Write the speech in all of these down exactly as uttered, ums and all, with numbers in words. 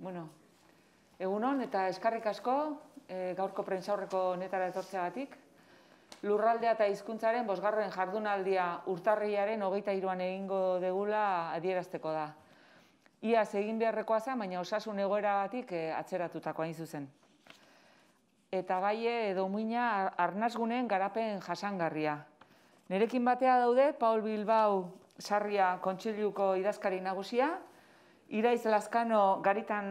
Bueno, egunon eta eskarrik asko gaurko prentsaurreko honetara etortzeagatik. Lurraldea eta hizkuntzaren bosgarren jardunaldia urtarrilaren hogeita hiruan egingo degula adierazteko da. Iaz egin beharrekoa zen, baina osasun egoeragatik atzeratutako hain zuzen. Eta gaie edo muina arnasguneen garapen jasangarria. Nerekin batea daude Paul Bilbao Sarria Kontseiluko idazkari nagusia, Iraiz Lazkano Garitan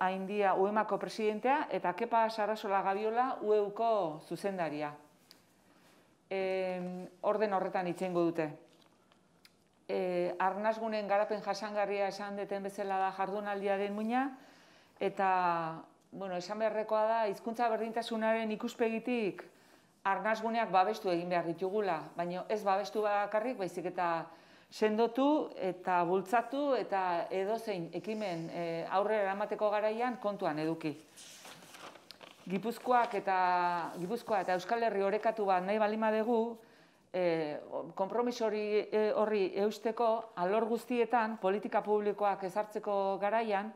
Aindia U E M A ko presidentea eta Kepa Sarasola Gabiola U E Uko zuzendaria. Orden horretan hitz egingo dute. Arnasgunen garapen jasangarria esan deten bezala da jardunaldiaren muina, eta esan beharrekoa da hizkuntza berdintasunaren ikuspegitik arnasguneak babestu egin behar ditugula, baina ez babestu bakarrik, baizik eta sendotu eta bultzatu eta edozein ekimen aurrera eramateko garaian kontuan eduki. Gipuzkoak eta Gipuzkoa eta Euskal Herri orekatu bat nahi baldin badugu, konpromiso horri eusteko alor guztietan politika publikoak ezartzeko garaian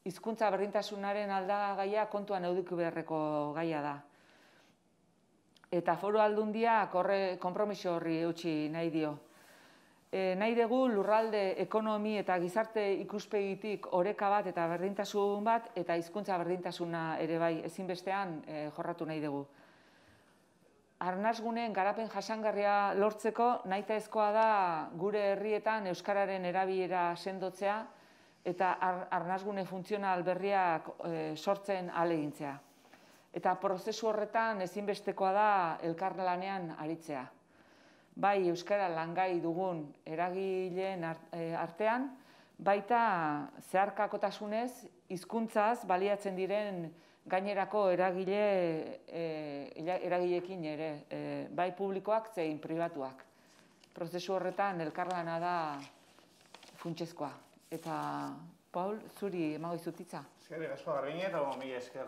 hizkuntza berdintasunaren aldagaia kontuan eduki beharreko gaia da. Eta Foru Aldundiak horre konpromiso horri eutsi nahi dio. Nahi dugu lurralde ekonomi eta gizarte ikuspegitik oreka bat eta berdintasun bat eta hizkuntza berdintasuna ere bai ezinbestean jorratu nahi dugu. Arnasguneen garapen jasangarria lortzeko nahitaezkoa da gure herrietan euskararen erabilera sendotzea eta arnasgune funtzional berriak sortzen ahalegintzea. Eta prozesu horretan ezinbestekoa da elkarlanean aritzea. Bai euskara langai dugun eragileen artean, baita zeharkakotasunez hizkuntzaz baliatzen diren gainerako eragileekin ere, bai publikoak zein pribatuak. Prozesu horretan elkarlana da funtsezkoa. Eta, Paul, zuri emago izutitza. Eskerrik asko Garbine, eta mila esker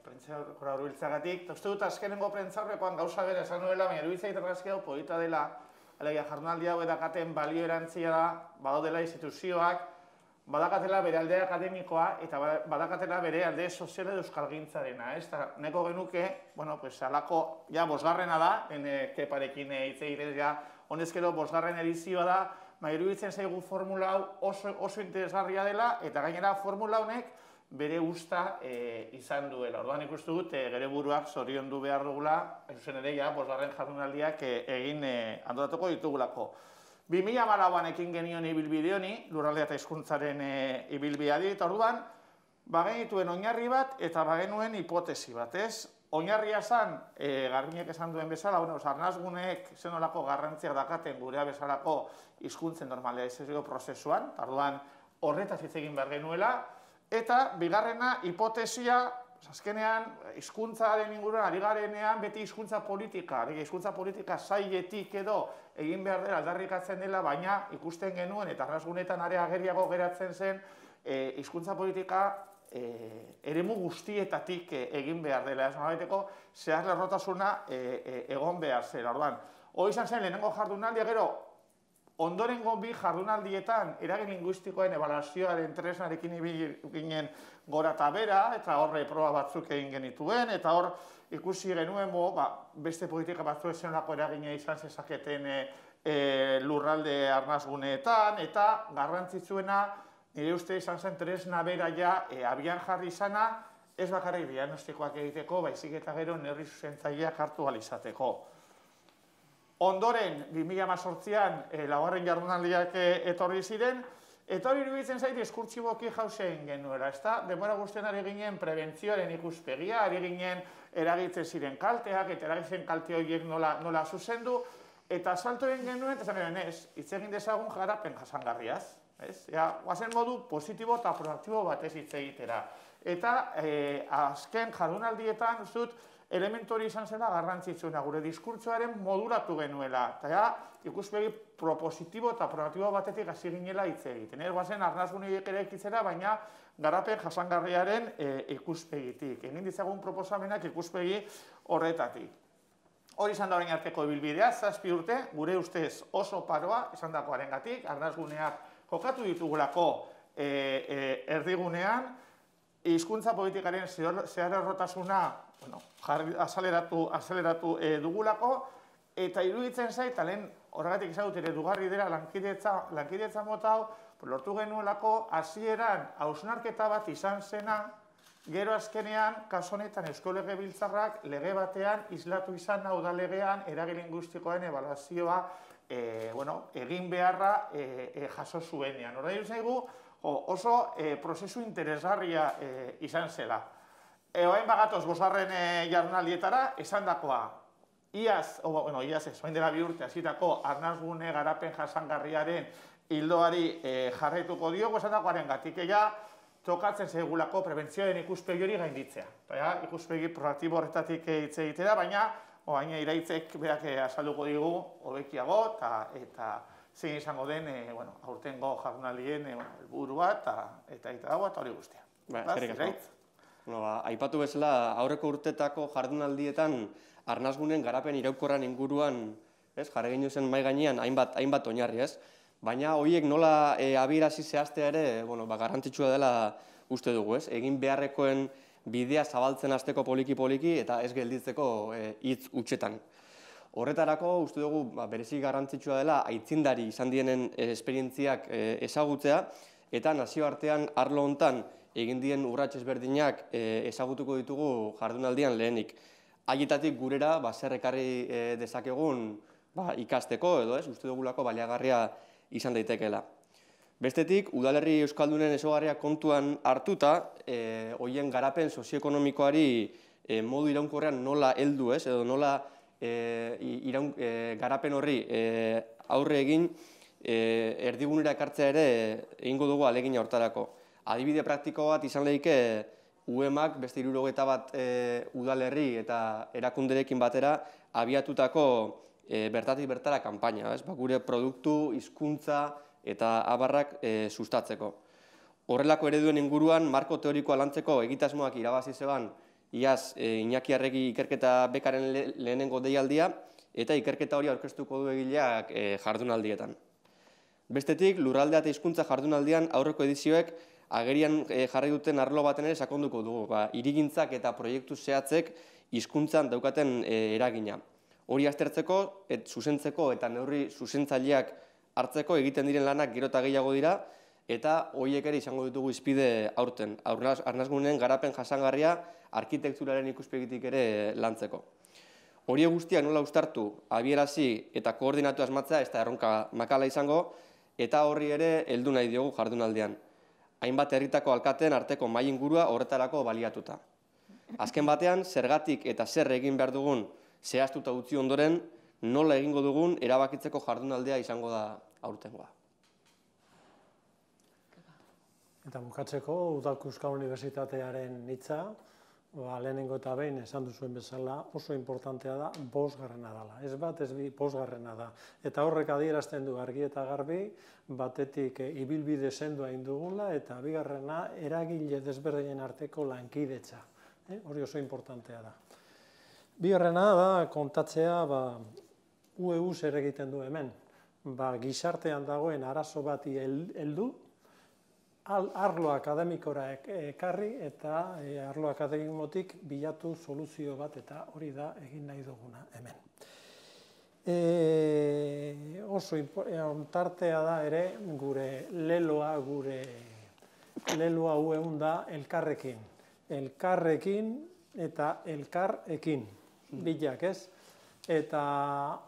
prentsaurrekora hurbiltzeagatik. Uste dut azkenengo prentsaurrekoan gauza bera esan nuela, baina iruditzen argazki hau polita dela, alegia jardunaldi hau edakaten balio erantzia da, badaudela instituzioak, badakatela bere alde akademikoa eta badakatela bere alde soziala edo euskalgintzarena. Neko genuke, bueno, pues alako, ja, bosgarrena da, Keparekin hitz egiten, ja, honezkero bosgarren edizioa da, baina iruditzen zaigu formula hau oso interesgarria dela, eta gainera formula honek bere usta izan duela. Orduan ikustu dut, gure buruak zoriondu behar dugula, zuzen ere, ja, bosgarren jardunaldiak egin antolatuko ditugulako. bi mila hamalauan ekin genion ibilbide honi, lurraldea eta hizkuntzaren ibilbideari, eta orduan, bagenituen oinarri bat eta bagenuen hipotesi bat, ez? Oinarria zan, Garbinek esan duen bezala, arnasguneek zenolako garrantziak dakaten gurea bezalako hizkuntzen normalizazio prozesuan, orduan horretaz hitz egin behar genuela, eta bigarrena hipotesia, azkenean hizkuntzaren inguruan ari garenean beti hizkuntza politika, hizkuntza politika sailetik edo egin behar dela aldarrikatzen dela, baina ikusten genuen eta arnasgunetan are ageriago geratzen zen hizkuntza politika eremu guztietatik egin behar dela. Ez nolabaiteko zehar lerrotasuna egon behar zela. Orduan, hori izan zen lehenengo jardunaldia, gero ondorengo bi jardunaldietan eragin linguistikoen ebaluazioaren tresnarekin ginen gora eta bera, eta horre proba batzuk egin genituen, eta hor ikusi genuen beste politika batzuk zenolako eragina izan zezaketen lurralde arnasguneetan, eta garrantzitsuena nire uste izan zen tresna bera ja abian jarri izana, ez bakarrik diagnostikoak egiteko, baizik eta gero neurri zuzentzaileak hartu ahal izateko. Ondoren, bi mila hemezortzian laugarren jardunaldiak etorri ziren, eta hori iruditzen zait diskurtsiboki jauzen genuela, ezta? Denbora guztien ari ginen prebentzioaren ikuspegia, ari ginen eragitzen ziren kalteak, eta eragitzen kalte horiek nola zuzendu, eta salto egin genuen, eta zan genuen ez, hitz egin dezagun garapen jasangarriaz, ez? Guazen modu positibo eta proaktibo batez hitz egitera. Eta azken jardunaldietan, uzut, elementu hori izan zela garrantzitsuena, gure diskurtsoaren modulatu genuela, eta ikuspegi propositibo eta proaktibo batetik hasi ginela hitz egiten. Guazen arnasguneak ere ekitzera, baina garapen jasangarriaren ikuspegitik. Egin ditzagun proposamenak ikuspegi horretatik. Hori izan da orain arteko ibilbidea, zazpi urte, gure ustez oso paroa, esan dakoarengatik, arnasguneak jokatu ditugulako erdigunean, hizkuntza politikaren zeharerrotasuna azaleratu dugulako, eta iruditzen zait, lehen horregatik izadut ere dugarri dira lankidetza mota hau, lortu genuelako hasieran hausnarketa bat izan zena, gero azkenean, kasu honetan Eusko Legebiltzarrak lege batean islatu izan hau da legean eragin linguistikoen ebaluazioa egin beharra jaso zuenean. Horrein zaigu oso prozesu interesgarria izan zela. Oain bagatoz bosgarren jardunaldietara, esan dakoa, iaz, bueno, iaz ez, oain dela bi urte hasitako arnasgune garapen jasangarriaren hildoari jarraituko diogu, esan dakoaren gatik ega, tokatzen zegulako prebentzioen ikuspegi hori gainditzea. Ikuspegi proaktibo horretatik hitz egitea, baina oain iraitzek berak azalduko digu hobekiago eta zein izango den aurtengo jardunaldien helburua eta dagoa eta hori guztia. Aipatu bezala, aurreko urtetako jardunaldietan arnasgunen garapen iraunkorran inguruan jarri genuen zen mahai gainean hainbat oinarri, ez? Baina horiek nola abiarazi zehaztea ere garrantzitsua dela uste dugu, ez? Egin beharrekoen bidea zabaltzen hasteko poliki-poliki eta ez gelditzeko hitz hutsetan. Horretarako uste dugu berezi garrantzitsua dela aitzindari izan dienen esperientziak ezagutzea eta nazioartean arlo hontan egin dien urrats ezberdinak ezagutuko ditugu jardunaldian lehenik. Haietatik gurera zer ekarri dezakegun ikasteko edo ez, uste dugulako baliagarria izan daitekeela. Bestetik, udalerri euskaldunen ezaugarriak kontuan hartuta, horien garapen sozioekonomikoari modu iraunkorrean nola heldu ez, edo nola garapen horri aurre egin erdigunera ekartzea ere egingo dugu ahalegina hortarako. Adibide praktiko bat izan lehike U E M ak beste hirurogeita bat udalerri eta erakunderekin batera abiatutako bertatik bertara kanpaina, gure produktu, hizkuntza eta abarrak sustatzeko. Horrelako ereduen inguruan, marko teorikoa lantzeko egitasmoak irabazi zeban iaz Iñaki Arregi ikerketa bekaren lehenengo deialdia eta ikerketa hori aurkeztuko du egileak jardunaldietan. Bestetik, lurraldea eta hizkuntza jardunaldian aurreko edizioek agerian jarri duten arlo baten ere sakonduko dugu, hirigintzak eta proiektu zehatzek hizkuntzan daukaten eragina. Hori aztertzeko, zuzentzeko eta neurri zuzentzaileak hartzeko egiten diren lanak gero eta gehiago dira eta horiek ere izango ditugu izpide aurten. Arnasgunen garapen jasangarria arkitekturaren ikuspegitik ere lantzeko. Horiek guztiak nola uztartu, abiarazi eta koordinatu asmatzea ez da erronka makala izango eta horri ere heldu nahi diogu jardunaldian. Hainbat herritako alkateen arteko mahai ingurua horretarako baliatuta. Azken batean, zergatik eta zer egin behar dugun zehaztuta utzi ondoren, nola egingo dugun erabakitzeko jardunaldea izango da aurtengoa. Eta bukatzeko, Udako Euskal Unibertsitatearen hitza, lehenengo eta behin esan duzuen bezala oso importantea da, bosgarrena dela. Ez bat, ez bi, bosgarrena da. Eta horrek adierazten du argi eta garbi, batetik ibilbide sendoa indugula, eta bigarrena eragile desberdinen arteko lankidetza. Hori oso importantea da. Bigarrena da kontatzea U E U zer egiten du hemen. Gizartean dagoen arazo bati heldu, arlo akademikora ekarri eta arlo akademikotik bilatu soluzio bat eta hori da egin nahi duguna hemen. Oso tartea da ere gure leloa, gure leloa U E U da elkarrekin. Elkarrekin eta elkarrekin. Bilak ez, eta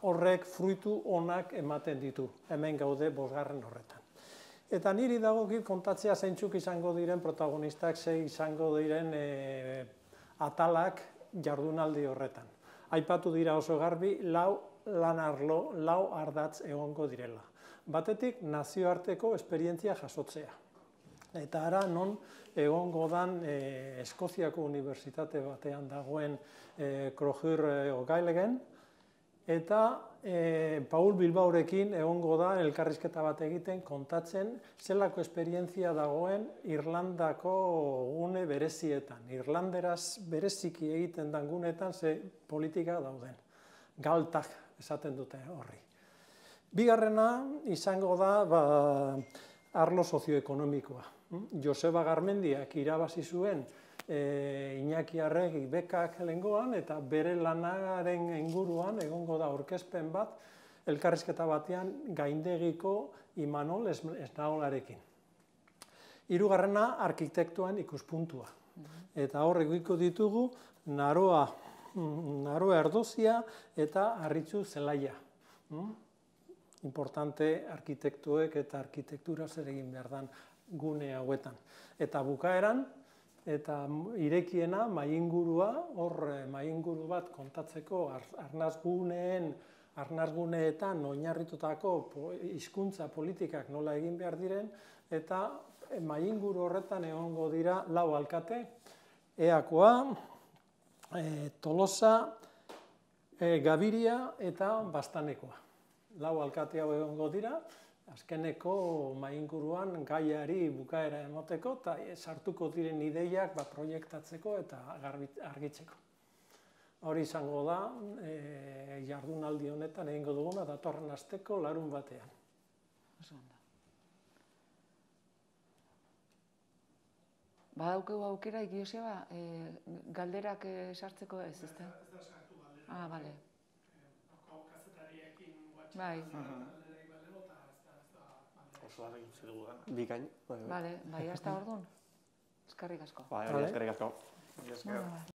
horrek fruitu onak ematen ditu, hemen gaude bosgarren horretan. Eta niri dagokit kontatzea zeintzuk izango diren protagonistak, ze izango diren atalak jardunaldi horretan. Aipatu dira oso garbi, lau lan arlo, lau ardatz egongo direla. Batetik nazioarteko esperientzia jasotzea. Eta ara non egongo dan Eskoziako unibertsitate batean dagoen Crojur O'Gailegen, eta Paul Bilbaorekin egongo da elkarrizketa bat egiten kontatzen zelako esperientzia dagoen Irlandako gune berezietan. Irlanderaz bereziki egiten dan gunetan ze politika dauden. Galtak esaten dute horri. Bigarrena izango da arlo sozioekonomikoa. Joseba Garmendiak irabazi zuen e, Iñaki Arregi bekak lehengoan, eta bere lanaren inguruan egongo da aurkezpen bat, elkarrizketa batean Gaindegiko Imanol Esnaolarekin. Hirugarrena arkitektuen ikuspuntua. Eta hor egoiko ditugu Naroa, Naroa Erdozia eta Arritzu Zelaia. Importante arkitektuek eta arkitektura zer egin behar dan gune hauetan. Eta bukaeran, eta irekiena maingurua, hor mainguru bat kontatzeko arnazguneen, arnazguneetan oinarritutako hizkuntza politikak nola egin behar diren, eta mainguru horretan egongo dira lau alkate, Eakoa, e, Tolosa, e, Gabiria eta Bastanekoa. Lau alkate hau egongo dira, azkeneko mainguruan gaiari bukaera emoteko eta sartuko diren ideiak ba, proiektatzeko eta argitzeko. Hori izango da e, jardunaldi honetan egingo duguna datorren asteko larun batean. Badaukegu aukera, Joseba, e, galderak sartzeko ez, ezta? Ez da sartu galdera. Ah, bale. Kazetariekin Bai. Oso argi utzi dugu da. Bikain. Bale, bai, hasta orduan. Eskerrik asko. Bai, eskerrik asko. Mila esker.